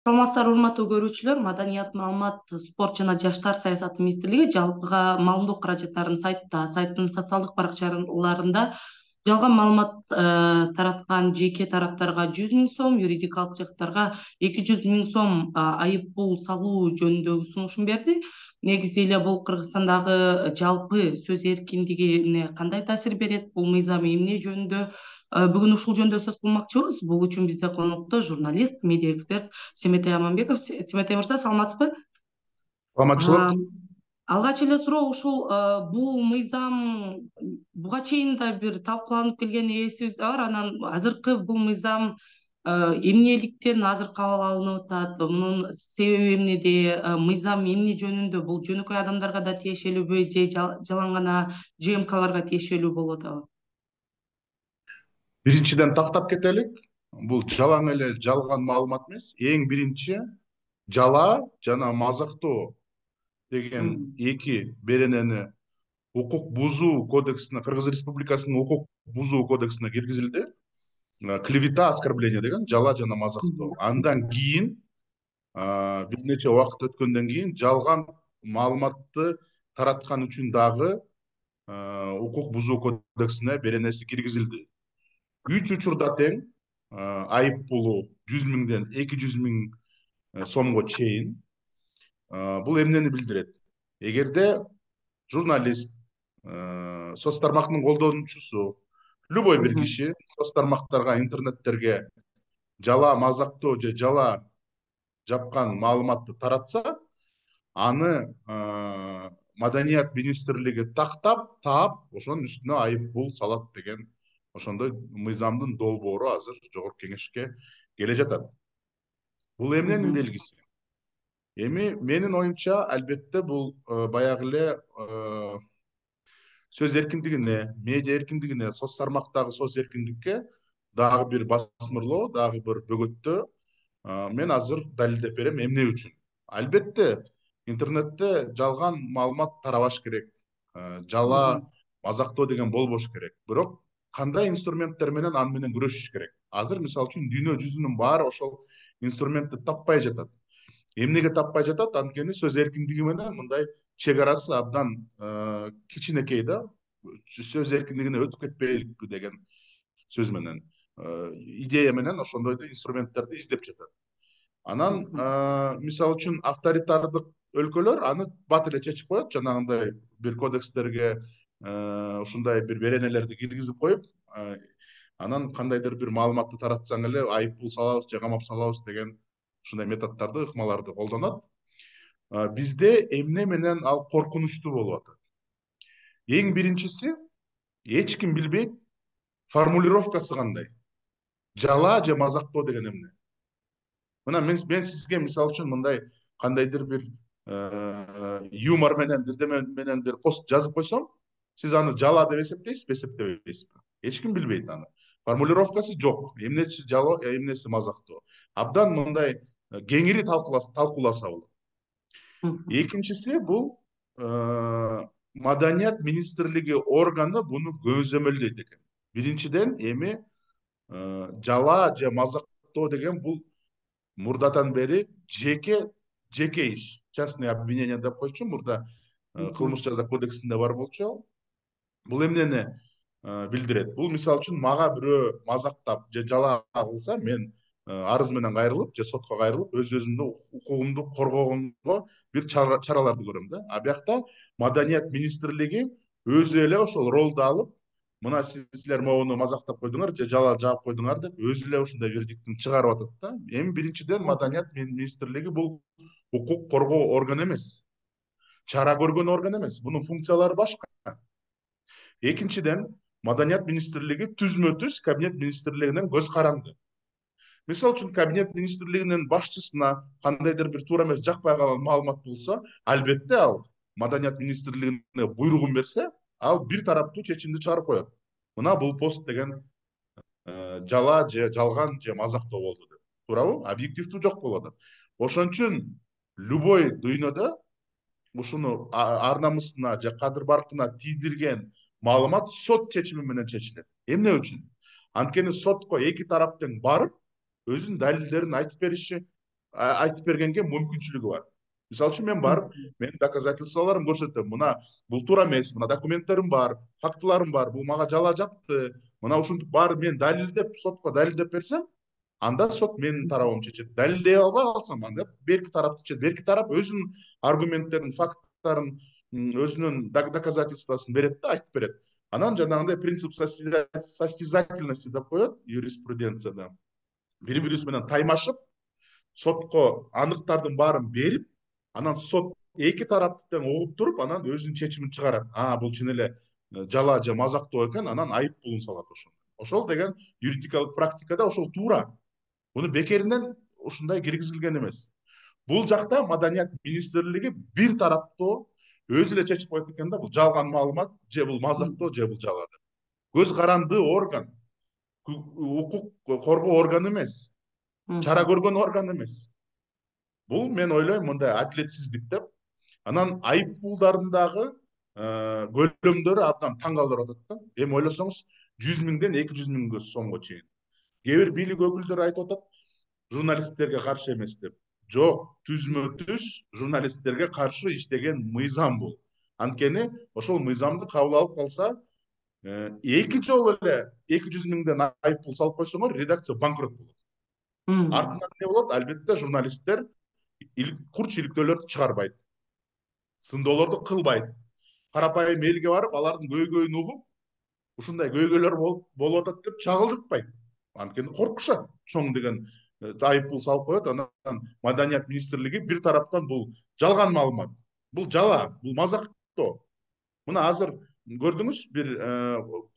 Саламатсыздар, урматтуу көрүүчүлөр. Маданият, маалымат, спорт жана жаштар саясаты министрлиги жалпыга маалымдоо каражаттарын сайттын социалдык баракчаларында жалган маалымат тараткан жеке тараптарга 100 000 сом, юридикалык жактарга 200 000 сом айып пул салуу жөнүндөгү сунушун берди. Негизи эле бул Кыргызстандагы жалпы сөз эркиндигине кандай таасир берет, бул мыйзам эмне жөнүндө бүгүн ушул жөнүндө сөз кылмакчыбыз. Бул үчүн бизде конокто журналист, медиа эксперт Семетей Аманбеков. Семетей мырза, саламатсызбы? Саламатчылык. А, Алгач эле суроо ушул, бул мыйзам буга чейин да бир талкууланып келгени эсибизде бар. Анан азыркы бул мыйзам эмнеликтен азыр кабыл алынып атат, мунун себеби эмнеде, мыйзам эмне жөнүндө, бул жөнөкөй адамдарга да тиешелүүбү же жалаң гана ЖМКларга тиешелүү болуп атабы? Биринчиден тактап кетелик. Бул жалаң эле жалган маалымат эмес. Эң биринчи жалаа жана мазактоо деген эки беренени укук бузуу кодексине, Кыргыз Республикасынын укук бузуу кодексине киргизилди. Клевета, оскорбление деген жалаа жана мазактоо. Андан кийин бир нече убакыт өткөндөн кийин жалган маалыматты тараткан үчүн дагы укук бузуу кодексине беренеси киргизилди. 3 учурда тең айып пулу 100 000ден 200 000 сомго чейин. Бул эмнени билдирет? Эгерде журналист, соц тармактын колдонуучусу, любой бир киши соц тармактарга, интернеттерге жалаа мазактоо же жалаа жапкан маалыматты таратса, аны Маданият министрлиги тактап, таап, ошонун үстүнө айып пул салат деген ошондой мыйзамдын долбоору азыр Жогорку Кеңешке келе жатат. Бул эмненин белгиси? Эми менин оюмча, албетте бул баягы эле сөз эркиндигине, медиа эркиндигине, соц тармактагы соц эркиндикке дагы бир басмырлоо, дагы бир бөгөттөө. Мен азыр далилдеп берем эмне үчүн. Албетте, интернетте жалган маалымат тарабаш керек. Жалаа, мазактоо деген болбош керек. Бирок кандай инструменттер менен аны менен күрөшүш керек? Азыр мисалы үчүн дүйнө жүзүнүн баары ошол инструментти таппай жатат. Эмнеге таппай жатат? Анткени сөз эркиндиги менен мындай чек арасы абдан кичинекей да. Сөз эркиндигине өтүп кетпейликпи деген сөз менен, идея менен ошондой инструменттерди издеп жатат. Анан мисалы үчүн авторитардык өлкөлөр аны бат эле чечип коет, жанагындай бир кодекстерге ушундай бир беренелерди киргизип коюп, анан кандайдыр бир маалыматты таратсаң эле айып пул салабыз же камап салабыз деген ушундай методдорду, ыкмаларды колдонот. Бизде эмне менен ал коркунучтуу болуп атат? Эң биринчиси, эч ким билбейт формулировкасы кандай. Жалаа же мазактоо деген эмне? Мына мен сизге мисалы үчүн мындай кандайдыр бир юмор менен, бирдеме менен бир пост жазып койсом, сиз аны жалаа деп эсептейсизби, эсептебейсизби? Эч ким билбейт аны. Формулировкасы жок. Эмнеси жалоо, эмнеси мазактоо. Абдан мындай кеңири талкууласа болот. Экинчиси, бул Маданият министрлиги органы буну көзөмөлдөйт экен. Биринчиден, эми жалаа же мазактоо деген бул мурдатан бери жеке иш, частное обвинение деп койчу, мурда кылмыш жаза кодексинде бар болчу. Бул эмнени билдирет? Бул мисалы үчүн мага бирөө мазактап же жалаа кылса, мен арыз менен кайрылып же сотко кайрылып өз өзүмдүн укугумду коргогонго бир чараларды көрөм да. А биякта Маданият министрлиги өзү эле ошол ролду алып, мына силер могуну мазактап койдуңар же жалаа жаап койдуңар деп өзү эле ушундай вердиктин чыгарып атат да. Эми биринчиден Маданият министрлиги бул укук коргоо органы эмес, чара көргөн орган эмес. Бунун функциялары башка. Экинчиден, Маданият министрлиги түзмө-түз Кабинет министрлигинен көз каранды. Мисалы үчүн Кабинет министрлигинин башчысына кандайдыр бир туура эмес, жакпай калган маалымат болсо, албетте ал Маданият министрлигине буйругун берсе, ал бир тараптуу чечимди чыгарып коет. Мына бул пост деген жалаа же жалган же мазактоо болду деп. Туурабы? Объективдүү жок болуп атат. Ошон үчүн любой дүйнөдө ушуну ар намысына же кадыр баркына тийдирген маалымат сот чечими менен чечилет. Эмне үчүн? Анткени сотко эки тарап тең барып, өзүнүн далилдерин айтып бериши, айтып бергенге мүмкүнчүлүгү бар. Мисалы үчүн мен барып, менин доказательстволорум көрсөтөм. Мына бул туура эмес, мына документтерим бар, фактыларым бар, бул мага жала жапты. Мына ушинтип баары мен далилдеп, сотко далилдеп берсем, анда сот менин тарабымды чечет. Далилдей албай калсам, анда берки тарапты чечет. Берки тарап өзүнүн аргументтерин, факттарын, өзүнүн доказательствосын берет да, айтып берет. Анан жанагындай принцип состязательности деп коет юриспруденцияда. Бири-бирибиз менен таймашып, сотко аныктардын баарын берип, анан сот эки тарапты тең угуп туруп, анан өзүнүн чечимин чыгарат. Бул чын эле жала же мазактоо экен, анан айып пулун салат ошондо. Ошол деген юридикалык практикада ошол туура. Муну бекеринен ушундай киргизилген эмес. Бул жакта Маданият министрлиги бир тараптуу өзү эле чечип коет экен да, бул жалган маалымат, же бул мазактоо, же бул жала деп. Көз каранды орган, укук коргоо органы эмес, чара көргөн орган эмес. Бул мен ойлойм мындай адилетсиздик деп. Анан айып пулдардын дагы көлөмдөрү абдан таң калтырып атат да. Эми ойлосоңуз 100 миңден 200 миң сомго чейин. Кээ бир бийлик өкүлдөрү айтып атат, журналисттерге каршы эмес деп. Жок, түзмө-түз журналисттерге каршы иштеген мыйзам бул. Анткени ошол мыйзамды кабыл алып калса, эки жолу эле 200 миңден айып пул салып койсоңор, редакция банкрот болот. Артынан эмне болот? Албетте журналисттер курч иликтөөлөрдү чыгарбайт, сындоолорду кылбайт. Карапайым элге барып, алардын көйгөйүн угуп, ушундай көйгөйлөр болуп атат деп чагылдыртпайт. Анткени коркушат. Чоң деген айып пул салып коет. Анан Маданият министрлиги бир тараптан бул жалган маалымат, бул жала, бул мазактоо. Мына азыр көрдүңүз, бир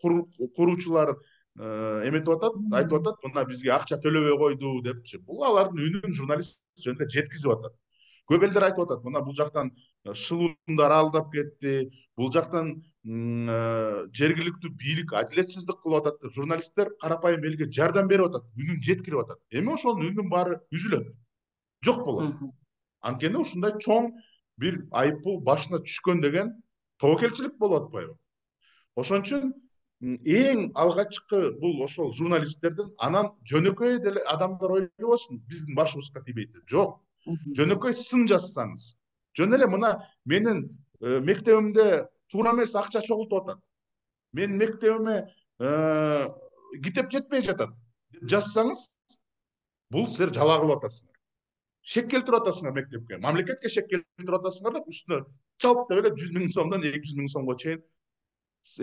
куруучулар эметип атат, айтып атат, мына бизге акча төлөбөй койду депчи. Бул алардын үнүн журналист жөнүндө жеткизип атат. Көп элдер айтып атат, мына бул жактан шылуундар алдап кетти, бул жактан жергиликтүү бийлик адилетсиздик кылып атат деп журналисттер карапайым элге жардам берип атат, үнүн жеткирип атат. Эми ошонун үнүнүн баары үзүлөт, жок болот. Анткени ушундай чоң бир айып пул башына түшкөн деген тобокелчилик болуп атпайбы? Ошон үчүн эң алгачкы бул ошол журналисттердин, анан жөнөкөй деле адамдар ойлобосун, биздин башыбызга тийбейт. Жок. Жөнөкөй сын жазсаңыз, жөн эле мына менин мектебимде туура эмес акча чогултуп атат, менин мектебиме китеп жетпей жатат деп жазсаңыз, бул силер жала кылып атасыңар. Шек келтирип атасыңар мектепке, мамлекетке шек келтирип атасыңар деп үстүнө чалп деп эле 100 миң сомдон 200 миң сомго чейин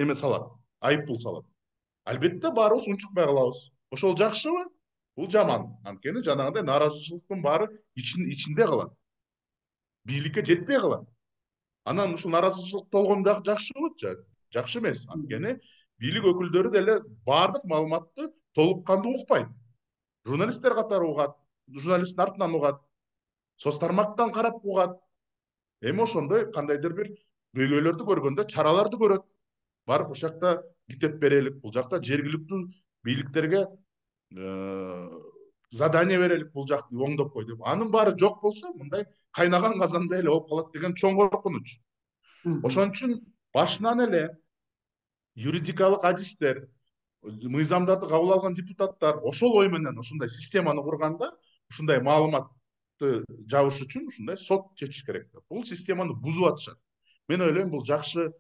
эме салат, айып пул салат. Албетте баарыбыз унчукпай калабыз. Ошол жакшыбы? Бул жаман. Анткени жанагындай нааразычылыктын баары ичинде калат. Бийликке жетпей калат. Анан ушул нааразычылык болгон дагы жакшыбы? Жакшы эмес. Анткени бийлик өкүлдөрү деле баардык маалыматты толук кандуу укпайт. Журналисттер катары угат, журналисттин артынан угат, соц тармактан карап угат. Эми ошондой кандайдыр бир көйгөйлөрдү көргөндө чараларды көрөт. Барып ушул жакта китеп берелик, бул жакта жергиликтүү бийликтерге задание берелик, бул жакты оңдоп кой деп. Анын баары жок болсо, мындай кайнаган казандай эле болуп калат деген чоң коркунуч. Ошон үчүн башынан эле юридикалык адистер, мыйзамдарды кабыл алган депутаттар ошол ой менен ушундай системаны курганда, ушундай маалыматты жабыш үчүн ушундай сот чечиш керек деп. Бул системаны бузуп атышат. Мен ойлойм, бул жакшы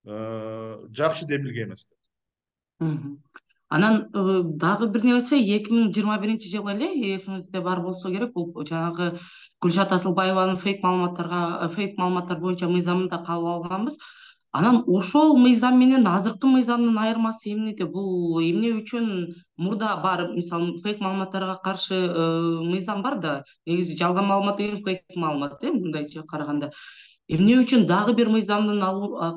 демилге эмес деп. Анан дагы бир нерсе, 2021 эле, эсиңизде бар болсо керек, бул жанагы Гүлшат Асылбаеванын фейк маалыматтар боюнча мыйзамын да кабыл алганбыз. Анан ошол мыйзам менен азыркы мыйзамдын айырмасы эмнеде? Бул эмне үчүн мурда бар, мисалы, фейк маалыматтарга каршы мыйзам бар да, негизи жалган маалымат деген фейк маалымат, мындайча караганда. Эмне үчүн дагы бир мыйзамдын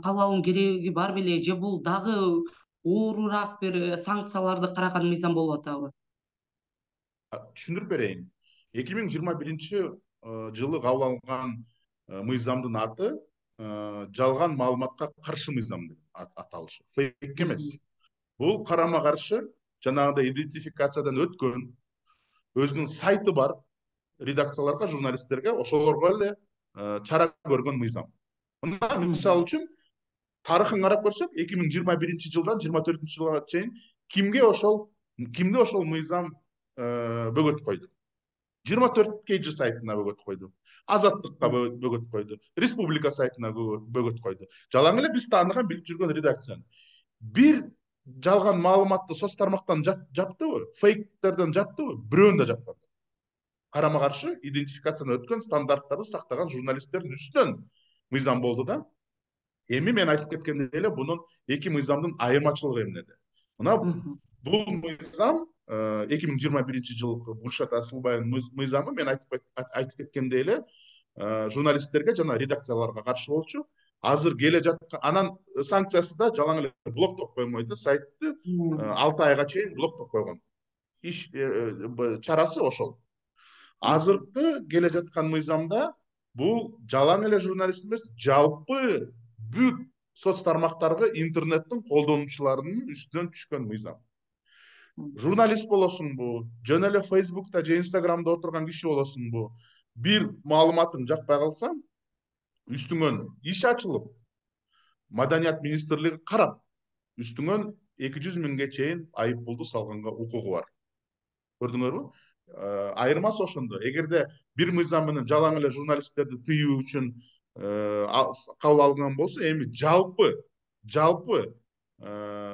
кабыл алуу кереги бар беле, же бул дагы оорураак бир санкцияларды караган мыйзам болуп атабы? Түшүндүрүп берейин. 2021 жылы кабыл алынган мыйзамдын аты жалган маалыматка каршы мыйзам деп аталышы. Фейк эмес. Бул карама каршы жанагындай идентификациядан өткөн, өзүнүн сайты бар редакцияларга, журналисттерге, ошолорго эле чара көргөн мыйзам. Мына мисалы үчүн тарыхын карап көрсөк, 2021 жылдан 24 жылга чейин кимде ошол мыйзам бөгөт койду? 24 KG сайтына бөгөт койду, Азаттыкка бөгөт койду, Республика сайтына бөгөт койду. Жалаң эле биз тааныган билип жүргөн редакцияны бир жалган маалыматты соц тармактан жаптыбы, фейктерден жаптыбы, бирөөнү да жаппады. Карама каршы идентификациядан өткөн, стандарттарды сактаган журналисттердин үстүнөн мыйзам болду да. Эми мен айтып кеткендей эле бунун эки мыйзамдын айырмачылыгы эмнеде? Мына бул мыйзам 2021 жылкы Гүлшат Асылбайдын мыйзамы мен айтып кеткендей эле журналисттерге жана редакцияларга каршы болчу. Азыр келе жаткан анан санкциясы да жалаң эле блоктоп коймойт, сайтты 6 айга чейин блоктоп койгон. Иш чарасы ошол. Азыркы келе жаткан мыйзамда бул жалаң эле журналист эмес, жалпы бүт соц тармактарга интернеттин колдонуучуларынын үстүнөн түшкөн мыйзам. Журналист болосуңбу, жөн эле Facebook'та же Instagram'да отурган киши болосуңбу, бир маалыматың жакпай калса, үстүңөн иш ачылып, Маданият министрлиги карап, үстүңөн 200 миңге чейин айып пулду салганга укугу бар. Көрдүңөрбү? Айырмасы ошондо. Эгерде бир мыйзам менен жалаң эле журналисттерди тыюу үчүн кабыл алынган болсо, эми жалпы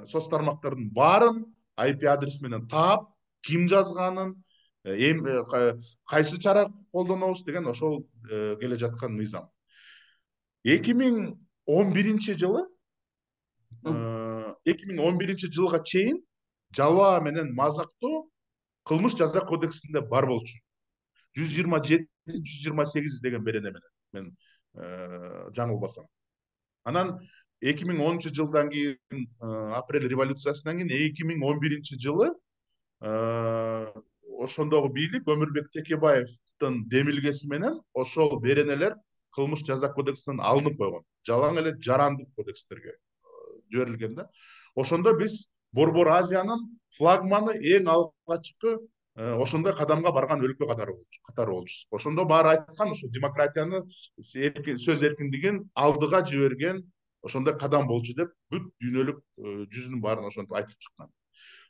соц тармактардын баарын IP адрес менен таап, ким жазганын, кайсы чара колдонобуз деген ошол келе жаткан мыйзам. 2011 жылга чейин жалаа менен мазактоо кылмыш жаза кодексинде бар болчу. 127-128 деген берене менен, мен жаңылбасам. Анан 2010 жылдан кийин, апрель революциясынан кийин 2011 жылы ошондогу бийлик Өмүрбек Текебаевдин демилгеси менен ошол беренелер кылмыш жаза кодексинен алынып койгон. Жалаң эле жарандык кодекстерге жиберилген да. Ошондо биз Борбор Азиянын флагманы, эң алгачкы ошондой кадамга барган өлкө катары болчубуз. Ошондо баары айткан, ошо демократияны, сөз эркиндигин алдыга жиберген ошондой кадам болчу деп бүт дүйнөлүк жүзүнүн баарын ошентип айтып чыккан.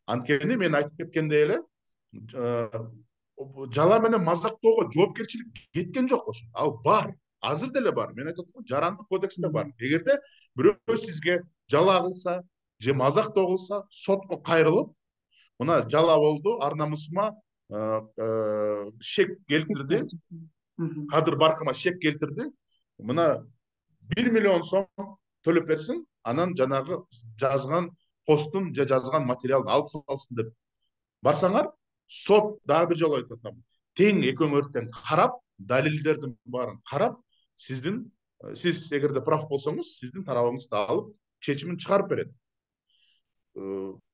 Анткени мен айтып кеткендей эле жала менен мазактоого жоопкерчилик кеткен жок ошо. Ал бар. Азыр деле бар. Мен айтып атам, жарандык кодексте бар. Эгерде бирөө сизге жала кылса же мазактоо кылса, сотко кайрылып, мына жала болду, ар намысыма шек келтирди, кадыр баркыма шек келтирди, мына 1 миллион сом төлөп берсин, анан жанагы жазган постун же жазган материалын алып салсын деп барсаңар, сот дагы бир жолу айтып атам, тең экөөңөрдөн карап, далилдердин баарын карап, сиз эгерде прав болсоңуз, сиздин тарабыңызды алып чечимин чыгарып берет.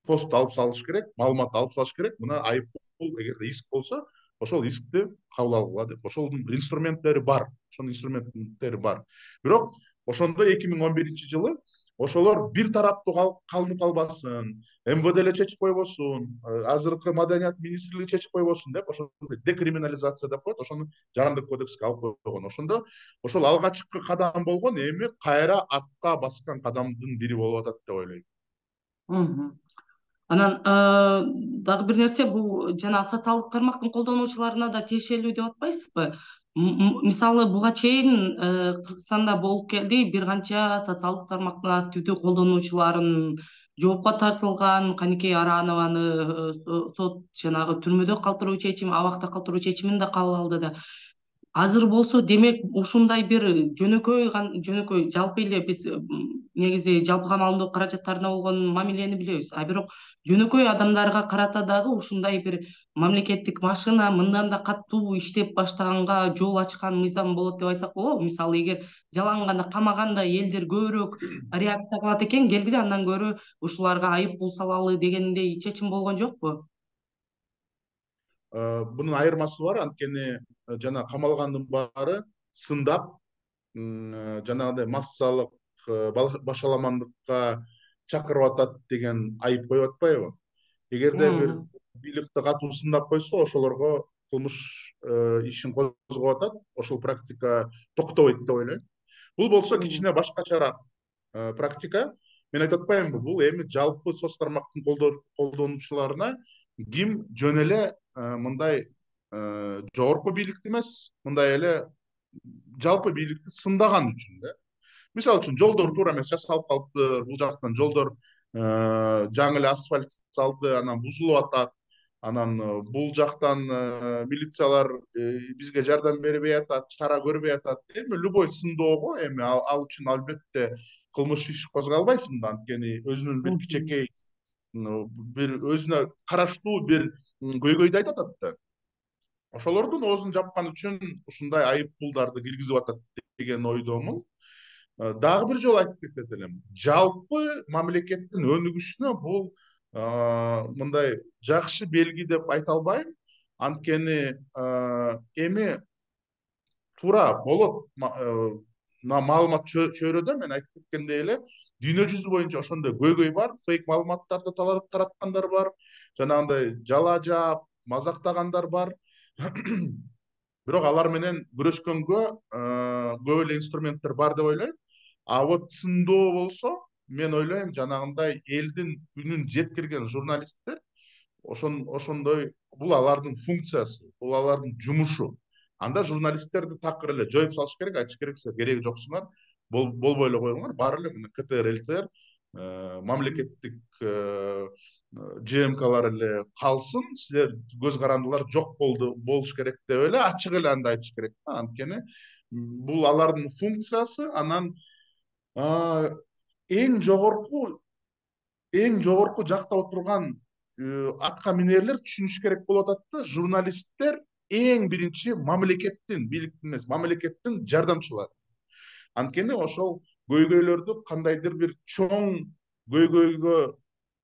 Пост алып салыш керек, маалымат алып салыш керек. Мына айып пул, эгерде иск болсо, ошол искти кабыл алгыла деп. Ошолдун инструменттери бар. Бирок ошондо 2011 жылы ошолор бир тараптуу калынып калбасын, МВД эле чечип койбосун, азыркы Маданият министрлиги чечип койбосун деп, ошондой декриминализация деп коет, ошону жарандык кодекске алып койгон. Ошондо ошол алгачкы кадам болгон, эми кайра артка баскан кадамдын бири болуп атат деп ойлойм. Анан дагы бир нерсе, бул жана социалдык тармактын колдонуучуларына да тиешелүү деп атпайсызбы? Мисалы, буга чейин Кыргызстанда болуп келди, бир канча социалдык тармактын активдүү колдонуучуларын жоопко тартылган, Каникей Аранованы сот жанагы түрмөдө калтыруу чечими, абакта калтыруу чечимин да кабыл алды да. Азыр болсо, демек, ушундай бир жөнөкөй жалпы эле биз негизи жалпыга маалымдоо каражаттарына болгон мамилени билебиз. А бирок жөнөкөй адамдарга карата дагы ушундай бир мамлекеттик машина мындан да катуу иштеп баштаганга жол ачкан мыйзам болот деп айтсак болобу? Мисалы, эгер жалаң гана камаганда элдер көбүрөөк реакция кылат экен, келгиле андан көрө ушуларга айып пул салалы дегендей чечим болгон жокпу? Bunun ayırması var. Antkeni jana камалгандын баары сындап, жанагындай массалык башаламандыкка чакырып атат деген айып коюп атпайбы? Эгерде бир бийликти катуу сындап койсо, ошолорго кылмыш ишин козгоп атат, ошол практика токтобойт деп ойлойм. Бул болсо кичине башкачараак практика. Мен айтып атпаймынбы, бул эми жалпы соц тармактын колдонуучуларына ким жөн эле мындай жогорку бийликти эмес, мындай эле жалпы бийликти сындаган үчүн да. Мисалы үчүн жолдор туура эмес жасалып калыптыр, бул жактан жолдор жаңы эле асфальт салды, анан бузулуп атат. Анан бул жактан милициялар бизге жардам бербей атат, чара көрбөй атат. Эми любой сындоого эми ал үчүн албетте кылмыш иш козголбайсың да, анткени өзүнүн бир кичинекей бир өзүнө караштуу бир көйгөйдү айтып атат да. Ошолордун оозун жапкан үчүн ушундай айып пулдарды киргизип атат деген ойдомун. Дагы бир жолу айтып кетет элем. Жалпы мамлекеттин өнүгүшүнө бул мындай жакшы белги деп айта албайм. Анткени эми туура болот маалымат чөйрөдө мен айтып кеткендей эле дүйнө жүзү боюнча ошондой көйгөй бар, фейк маалыматтарды тараткандар бар, жанагындай жала жаап, мазактагандар бар. Бирок алар менен күрөшкөнгө көп эле инструменттер бар деп ойлойм. А вот сындоо болсо, мен ойлойм жанагындай элдин үнүн жеткирген журналисттер ошондой, бул алардын функциясы, бул алардын жумушу. Анда журналисттерди такыр эле жоюп салыш керек, айтыш керек, силер кереги жоксуңар, болбой эле коюңар, баары эле мына КТР, ЛТР мамлекеттик ЖМКлар эле калсын, силер көз карандылар жок болуш керек деп эле ачык эле анда айтыш керек да. Анткени бул алардын функциясы. Анан эң жогорку жакта отурган атка минерлер түшүнүш керек болуп атат да, журналисттер эң биринчи мамлекеттин, бийликтин эмес, мамлекеттин жардамчылары. Анткени ошол көйгөйлөрдү кандайдыр бир чоң көйгөйгө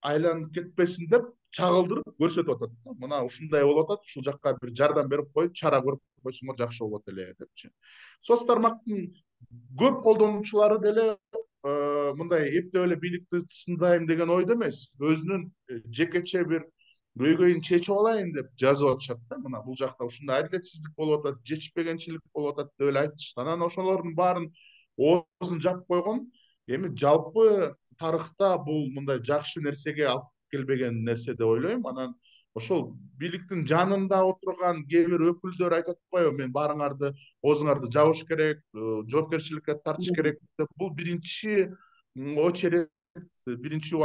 айланып кетпесин деп чагылдырып көрсөтүп атат да. Мына ушундай болуп атат, ушул жакка бир жардам берип коюп, чара көрүп койсоңор жакшы болот эле депчи. Соц тармактын көп колдонуучулары деле мындай эптеп эле бийликти сындайм деген ойдо эмес, өзүнүн жекече бир көйгөйүн чечип алайын деп жазып атышат да. Мына бул жакта ушундай адилетсиздик болуп атат, жетишпегенчилик болуп атат деп эле айтышат. Анан ошолордун баарын оозун жаап койгон. Эми жалпы тарыхта бул мындай жакшы нерсеге алып келбеген нерсе деп ойлойм. Анан ошол бийликтин жанында отурган кээ бир өкүлдөр айтат атпайбы, мен баарыңарды оозуңарды жабыш керек, жоопкерчиликке тартыш керек деп. Бул биринчи очередь, биринчи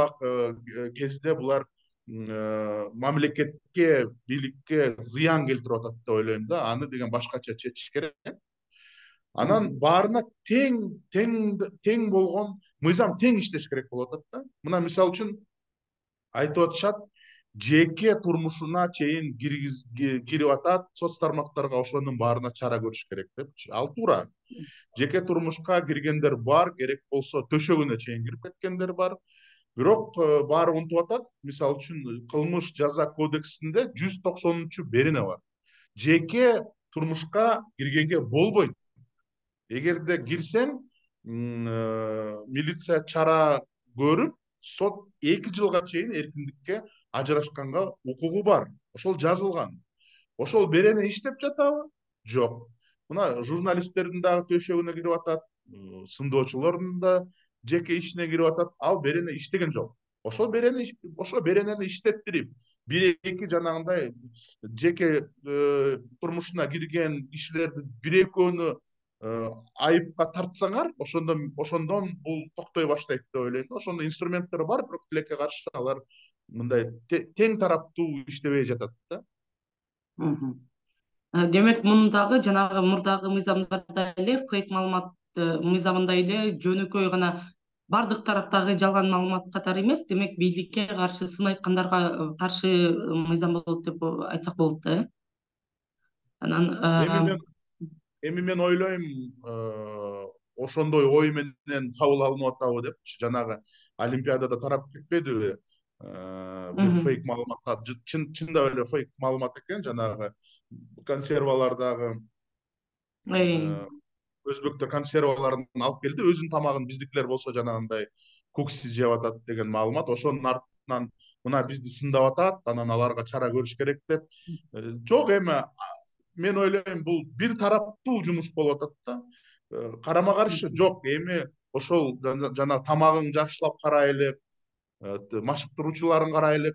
кезде булар мамлекетке, бийликке зыян келтирип атат деп ойлойм да. Аны деген башкача чечиш керек. Анан баарына тең болгон мыйзам, тең иштеш керек болуп атат да. Мына мисалы үчүн айтып атышат, жеке турмушуна чейин кирип атат, соц тармактарга ошонун баарына чара көрүш керек депчи. Ал туура. Жеке турмушка киргендер бар, керек болсо төшөгүнө чейин кирип кеткендер бар. Бирок баары унутуп атат, мисалы үчүн кылмыш жаза кодексинде 190 берене бар. Жеке турмушка киргенге болбойт. Эгерде кирсең, милиция чара көрүп, сот 2 жылга чейин эркиндикке ажырашканга укугу бар. Ошол жазылган. Ошол берене иштеп жатабы? Жок. Мына журналисттердин дагы төшөгүнө кирип атат, сындоочулордун да жеке ишине кирип атат. Ал берене иштеген жок. Ошол беренени иштеттирип, 1-2 жанагындай жеке турмушуна кирген кишилерди 1-экөөнү айыпка тартсаңар, ошондон бул токтой баштайт деп ойлойм да. Ошондой инструменттер бар, бирок тилекке каршы алар мындай тең тараптуу иштебей жатат да. Демек мундагы жанагы мурдагы мыйзамдарда эле фейк маалымат мыйзамында эле жөнөкөй гана бардык тараптагы жалган маалымат катары эмес, демек бийликке каршы сын айткандарга каршы мыйзам болот деп айтсак болот да, э? Анан Эми мен ойлойм, ошондой ой менен кабыл алынып атабы депчи. Жанагы Олимпиадада тарап кетпедиби? Бир фейк маалыматка, чындап эле фейк маалымат экен, жанагы консервалардагы өзбектер консерваларын алып келди, өзүнүн тамагын биздикилер болсо жанагындай куксиз жеп атат деген маалымат. Ошонун артынан мына бизди сындап атат, анан аларга чара көрүш керек деп. Жок, эми мен ойлойм бул бир тараптуу жумуш болуп атат да. Карама каршы жок. Эми ошол жана тамагын жакшылап карайлы, машыктыруучуларын карайлы,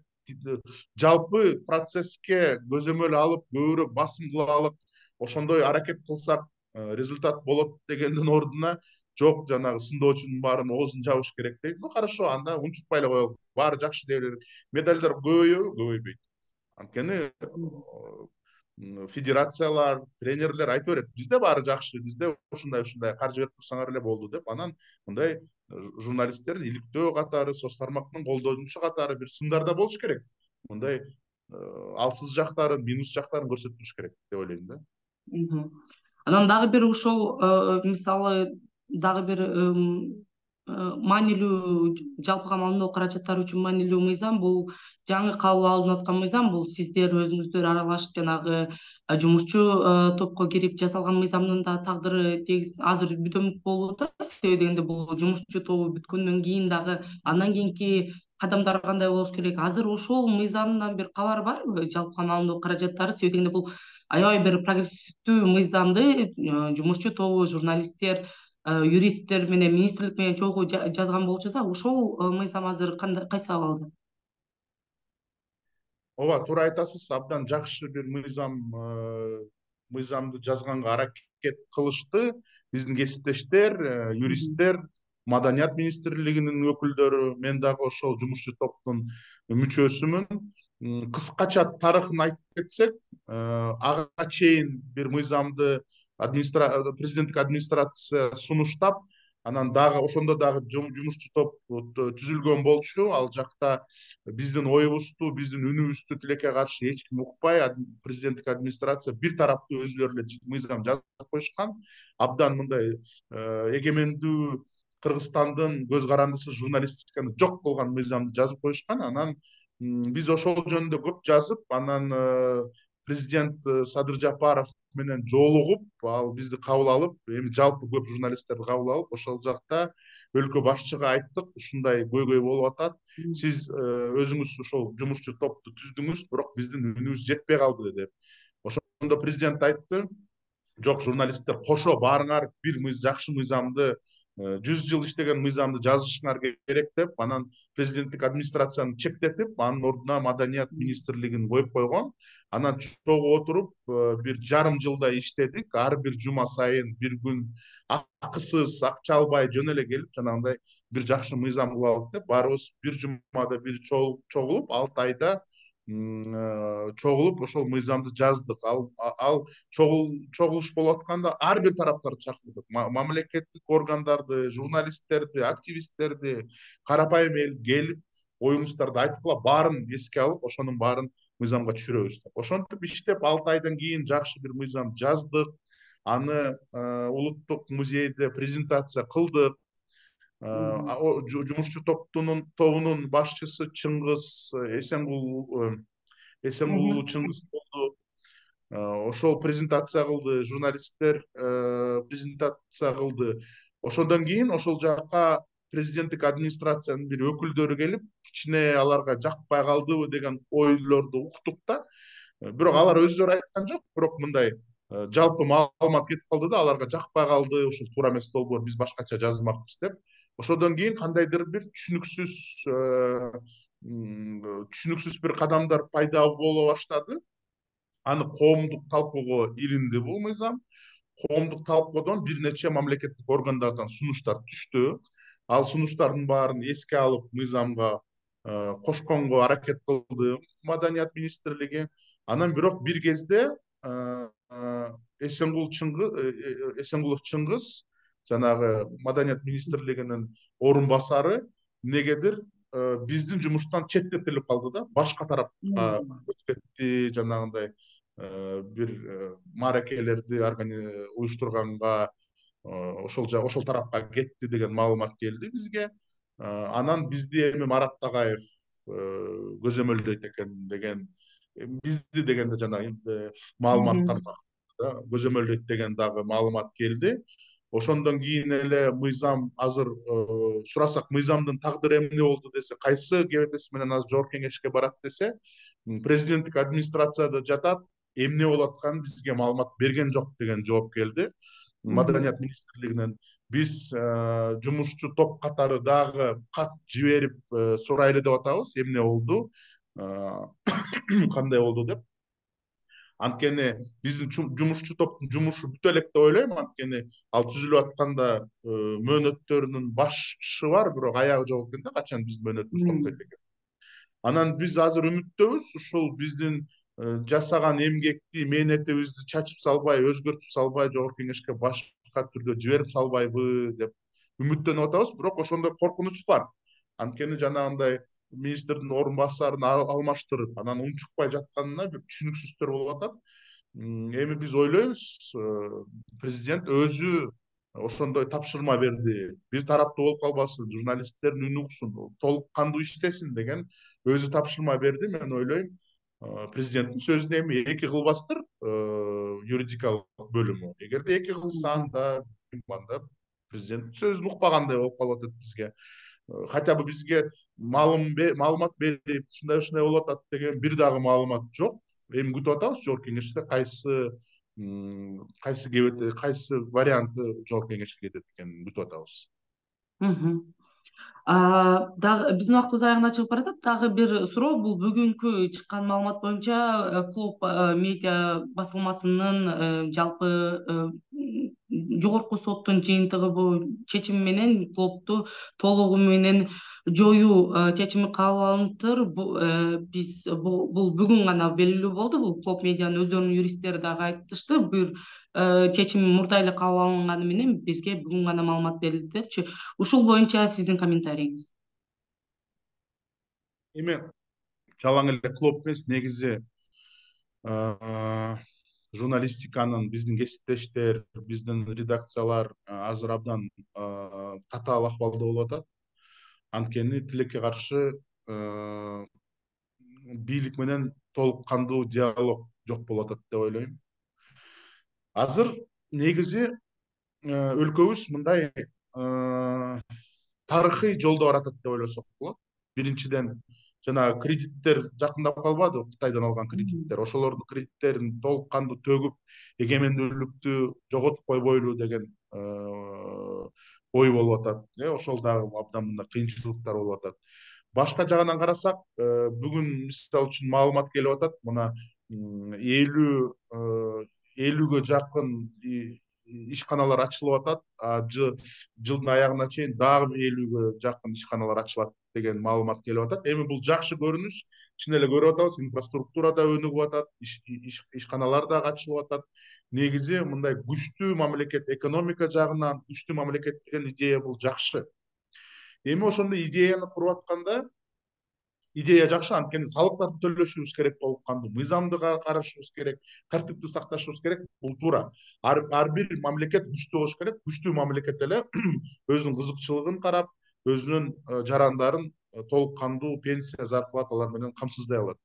жалпы процесске көзөмөл алып көбүрөөк басымдуулук ошондой аракет кылсак результат болот дегендин ордуна жок жанагы сындоочунун баарын оозун жабыш керек дейт. Ну хорошо, анда унчукпай эле коелу. Баары жакшы дей берели. Медальдар көбөйөбү? Көбөйбөйт. Анткени федерациялар, тренерлер айта берет, бизде баары жакшы, бизде ушундай каржы берип турсаңар эле болду деп, анан мындай журналисттердин иликтөө катары, соц тармактын колдонуучу катары бир сындарда болуш керек. Мындай алсыз жактарын, минус жактарын көрсөтүп туруш керек деп ойлойм да. Анан дагы бир ошол мисалы дагы бир маанилүү жалпыга маалымдоо каражаттары үчүн маанилүү мыйзам бул жаңы кабыл алынып аткан мыйзам. Бул сиздер өзүңүздөр аралашып жанагы жумушчу топко кирип жасалган мыйзамдын да тагдыры азыр бүтөмүк болууда. Себеби дегенде бул жумушчу тобу бүткөндөн кийин дагы андан кийинки кадамдар кандай болуш керек? Азыр ошол мыйзамдан бир кабар барбы? Жалпыга маалымдоо каражаттары, себеби дегенде бул аябай бир прогрессивдүү мыйзамды жумушчу тобу, журналисттер, юристтер менен, министрлик менен чогуу жазган болчу да. Ошол мыйзам азыр кайсы абалда? Ооба, туура айтасыз. Абдан жакшы бир мыйзамды жазганга аракет кылышты биздин кесиптештер, юристтер, Маданият министрлигинин өкүлдөрү. Мен дагы ошол жумушчу топтун мүчөсүмүн. Кыскача тарыхын айтып кетсек, ага чейин бир мыйзамды президенттик администрация сунуштап, анан дагы ошондо дагы жумушчу топ түзүлгөн болчу. Ал жакта биздин оюбузду, биздин үнүбүздү тилекке каршы эч ким укпай, президенттик администрация бир тараптуу өзүлөрү эле мыйзам жазып коюшкан. Абдан мындай эгемендүү Кыргызстандын көз карандысыз журналистиканы жок кылган мыйзамды жазып коюшкан. Анан биз ошол жөнүндө көп жазып, анан президент Садыр Жапаров менен жолугуп, ал бизди кабыл алып, эми жалпы көп журналисттерди кабыл алып, ошол жакта өлкө башчыга айттык, ушундай көйгөй болуп атат. Сиз өзүңүз ошол жумушчу топту түздүңүз, бирок биздин үнүбүз жетпей калды деп. Ошондо президент айтты, жок, журналисттер кошо баарыңар бир жакшы мыйзамды, 100 жыл иштеген мыйзамды жазышыңар керек деп, анан президенттик администрацияны чектетип, анын ордуна Маданият министрлигин коюп койгон. Анан чогуу отуруп бир жарым жылдай иштедик. Ар бир жума сайын бир күн акысыз, акча албай жөн эле келип, жанагындай бир жакшы мыйзам кылып алып деп, баарыбыз бир жумада бир чогулуп, 6 айда чогулуп ошол мыйзамды жаздык. Ал чогулуш болуп атканда ар бир тараптарды чакырдык. Мамлекеттик органдарды, журналисттерди, активисттерди, карапайым эл келип, оюңуздарды айткыла, баарын эске алып, ошонун баарын мыйзамга түшүрөбүз деп. Ошентип иштеп 6 айдан кийин жакшы бир мыйзам жаздык. Аны улуттук музейде презентация кылдык. Жумушчу тобунун башчысы Чыңгыз Эсенгулу Чыңгыз болду. Ошол презентация кылды, журналисттер презентация кылды. Ошондон кийин ошол жака президенттик администрациянын бир өкүлдөрү келип, кичине аларга жакпай калдыбы деген ойлорду уктук да. Бирок алар өздөрү айткан жок, бирок мындай жалпы маалымат кетип калды да, аларга жакпай калды, ошол туура эмес долбоор, биз башкача жазмакпыз деп. Ошондон кийин кандайдыр бир түшүнүксүз бир кадамдар пайда боло баштады. Аны коомдук талкууга илинди бул мыйзам. Коомдук талкуудон бир нече мамлекеттик органдардан сунуштар түштү. Ал сунуштардын баарын эске алып, мыйзамга кошконго аракет кылды Маданият министрлиги. Анан бирок бир кезде Эсенгулов Чыңгыз, жанагы Маданият министрлигинин орун басары, эмнегедир биздин жумуштан четтетилип калды да, башка тарапка өтүп кетти, жанагындай бир мааракелерди уюштурганга ошол тарапка кетти деген маалымат келди бизге. Анан бизди эми Марат Тагаев көзөмөлдөйт экен деген, бизди дегенде жанагы маалымат тармагында көзөмөлдөйт деген дагы маалымат келди. Ошондон кийин эле мыйзам азыр сурасак, мыйзамдын тагдыры эмне болду десе, кайсы кебетеси менен азыр жогорку кеңешке барат десе, президенттик администрацияда жатат, эмне болуп атканын бизге маалымат берген жок деген жооп келди Маданият министрлигинен. Биз жумушчу топ катары дагы кат жиберип сурайлы деп атабыз, эмне болду. кандай болду деп. Анткени биздин жумушчу топтун жумушу бүтө элек деп ойлойм. Анткени ал түзүлүп атканда мөөнөттөрүнүн башы бар, бирок аягы жок экен да, качан биздин мөөнөтүбүз токтойт экен. Анан биз азыр үмүттөбүз, ушул биздин жасаган эмгекти, мээнетибизди чачып салбай, өзгөртүп салбай, жогорку кеңешке башка түрдө жиберип салбайбы деп үмүттөнүп атабыз. Бирок ошондой коркунуч бар. Анткени жанагындай министрдин орун басарын алмаштырып, анан унчукпай жатканына бир түшүнүксүздөр болуп атат. Эми биз ойлойбуз, президент өзү ошондой тапшырма берди. Бир тараптуу болуп калбасын, журналисттердин үнү уксун, толук кандуу иштесин деген өзү тапшырма берди. Мен ойлойм, президенттин сөзүн эми эки кылбастыр юридикалык бөлүмү. Эгерде эки кылса, анда президенттин сөзүн укпагандай болуп калып атат бизге. Хотя бы бизге маалымат берип, ушундай болуп атат деген бир дагы маалымат жок. Эми күтүп атабыз жогорку кеңеште кайсы варианты жогорку кеңешке кетет экенин күтүп атабыз. Дагы биздин убактыбыз аягына чыгып баратат. Дагы бир суроо, бул бүгүнкү чыккан маалымат боюнча Клоп медиа басылмасынын жалпы жогорку соттун жыйынтыгы чечими менен Клопту толугу менен жоюу чечими кабыл алыныптыр. Бул бүгүн гана белгилүү болду. Бул Клоп медианын өздөрүнүн юристтери дагы айтышты. Бир чечим мурда эле кабыл алынганы менен бизге бүгүн гана маалымат берилди депчи. Ушул боюнча сиздин комментарийиңиз? Эми жалаң эле Клоп эмес, негизи журналистиканын биздин кесиптештер, биздин редакциялар азыр абдан татаал акыбалда болуп атат. Анткени тилекке каршы бийлик менен толук кандуу диалог жок болуп атат деп ойлойм. Азыр негизи өлкөбүз мындай тарыхый жолдо баратат деп ойлосок болот. Биринчиден, жанагы кредиттер жакындап калбадыбы, Кытайдан алган кредиттер. Ошолордун кредиттерин толук кандуу төгүп, эгемендүүлүктү жоготуп койбойлу деген ой болуп атат. Ошол дагы абдан мындай кыйынчылыктар болуп атат. Башка жагынан карасак, бүгүн мисалы үчүн маалымат келип атат. Мына 50-ге жакын ишканалар ачылып атат. Жылдын аягына чейин дагы 50-ге жакын ишканалар ачылат деген маалымат келип атат. Эми бул жакшы көрүнүш. Чын эле көрүп атабыз, инфраструктура да өнүгүп атат, ишканалар дагы ачылып атат. Негизи мындай күчтүү мамлекет, экономика жагынан күчтүү мамлекет деген идея бул жакшы. Эми ошондой идеяны куруп атканда, идея жакшы, анткени салыктарды төлөшүбүз керек, толук кандуу мыйзамды карашыбыз керек, тартипти сакташыбыз керек. Бул туура. Ар бир мамлекет күчтүү болуш керек. Күчтүү мамлекет эле өзүнүн кызыкчылыгын карап, өзүнүн жарандарын толук кандуу пенсия, зарплаталар менен камсыздай алат.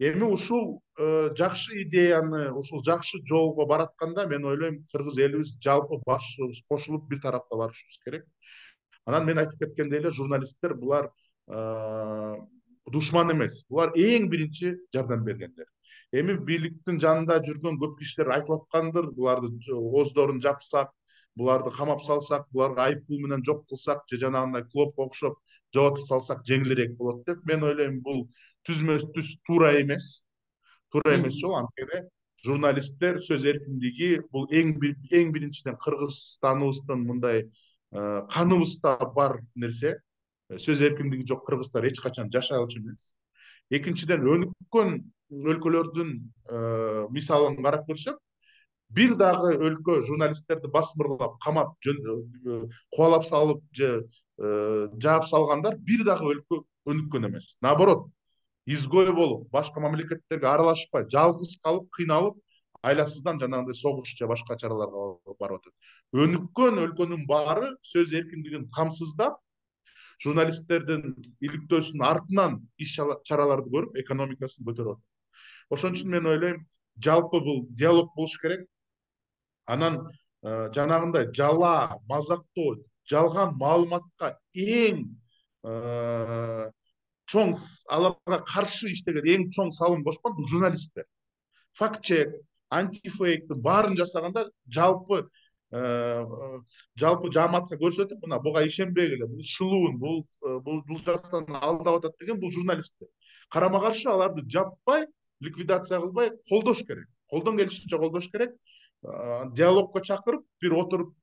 Эми ушул жакшы идеяны, ушул жакшы жолго баратканда, мен ойлойм, кыргыз элибиз жалпы башыбыз кошулуп бир тарапта барышыбыз керек. Анан мен айтып кеткендей эле, журналисттер булар душман эмес. Булар эң биринчи жардам бергендер. Эми бийликтин жанында жүргөн көп кишилер айтып аткандыр, буларды ооздорун жапсак, буларды камап салсак, буларга айып пул менен жок кылсак, же жанагындай Клопко окшоп жоготуп салсак жеңилирээк болот деп. Мен ойлойм, бул түз туура эмес. Туура эмес жол. Анткени журналисттер сөз эркиндиги бул эң биринчиден Кыргызстаныбыздын мындай каныбызда бар нерсе. Сөз эркиндиги жок кыргыздар эч качан жашагылчу эмес. Экинчиден, өнүккөн өлкөлөрдүн мисалын карап көрсөк, бир дагы өлкө журналисттерди басмырлап, камап, кубалап салып же жаап салгандар бир дагы өлкө өнүккөн эмес. Наоборот, изгой болуп, башка мамлекеттерге аралашпай, жалгыз калып, кыйналып, айласыздан жанагындай согуш же башка чараларга барып атат. Өнүккөн өлкөнүн баары сөз эркиндигин камсыздап, журналисттердин иликтөөсүнүн артынан иш чараларды көрүп, экономикасын көтөрүп атат. Ошон үчүн мен ойлойм, жалпы бул диалог болуш керек. Анан жанагындай жала, мазактоо, жалган маалыматка эң чоң, аларга каршы иштеген эң чоң салым кошкон бул журналисттер. Факт чек, антифейктин баарын жасагандар жалпы жалпы жааматка көрсөтүп, мына буга ишенбегиле, бул шылуун, бул жактан алдап атат деген бул журналисттер. Карама каршы аларды жаппай, ликвидация кылбай колдош керек. Колдон келишинче колдош керек. Диалогко чакырып, бир отуруп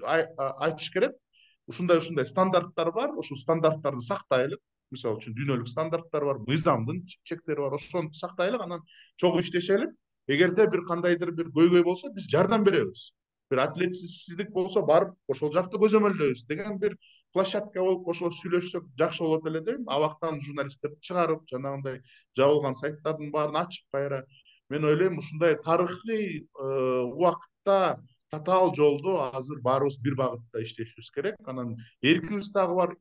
айтыш керек. Ушундай стандарттар бар, ушул стандарттарды сактайлык. Мисалы үчүн дүйнөлүк стандарттар бар, мыйзамдын чектери бар, ошону сактайлык, анан чогуу иштешелик. Эгерде бир кандайдыр бир көйгөй болсо, биз жардам беребиз. Бир адилетсиздик болсо, барып ошол жакты көзөмөлдөйбүз деген бир площадка болуп ошол сүйлөшсөк жакшы болот эле дейм. Абактан журналисттерди чыгарып, жанагындай жабылган сайттардын баарын ачып кайра. Мен ойлойм, ушундай тарыхый убакытта татаал жолду азыр баарыбыз бир багытта иштешибиз керек. Анан эркибиз дагы бар.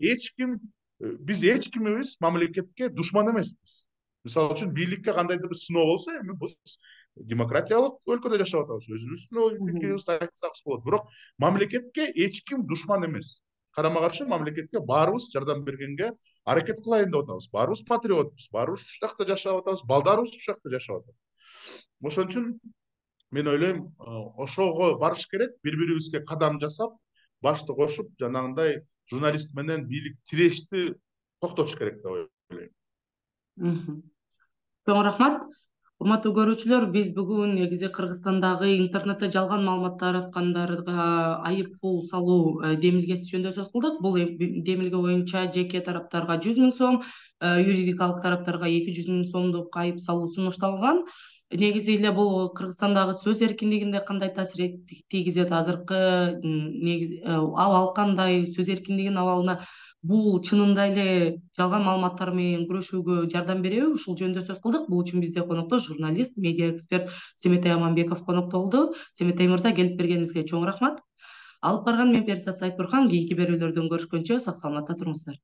Биз эч кимибиз мамлекетке душман эмеспиз. Мисалы үчүн бийликке кандайдыр бир сыноо болсо, эми биз демократиялык өлкөдө жашап атабыз. Өзүбүздүн ой пикирибизди айтсакыбыз болот. Бирок мамлекетке эч ким душман эмес. Карама каршы мамлекетке баарыбыз жардам бергенге аракет кылайын деп атабыз. Баарыбыз патриотпуз, баарыбыз ушул жакта жашап атабыз, балдарыбыз ушул жакта жашап атат. Ошон үчүн мен ойлойм, ошого барыш керек, бири-бирибизге кадам жасап, башты кошуп, жанагындай журналист менен бийлик тирешти токтотуш керек деп ойлойм. Чоң рахмат. Урматтуу көрүүчүлөр, биз бүгүн негизи Кыргызстандагы интернетте жалган маалымат тараткандарга айып пул салуу демилгеси жөнүндө сөз кылдык. Бул демилге боюнча жеке тараптарга 100 000 сом, юридикалык тараптарга 200 000 сомдук айып салуу сунушталган. Негизи эле бул Кыргызстандагы сөз эркиндигине кандай таасир тийгизет, азыркы негизи абал кандай, сөз эркиндигинин абалына бул чынында эле жалган маалыматтар менен күрөшүүгө жардам береби? Ушул жөнүндө сөз кылдык. Бул үчүн бизде конокто журналист, медиа эксперт Семетей Аманбеков конокто болду. Семетей мырза, келип бергениңизге чоң рахмат. Алып барган мен Перизат Сайтбурхан. Кийинки берүүлөрдөн көрүшкөнчө сак саламатта туруңуздар.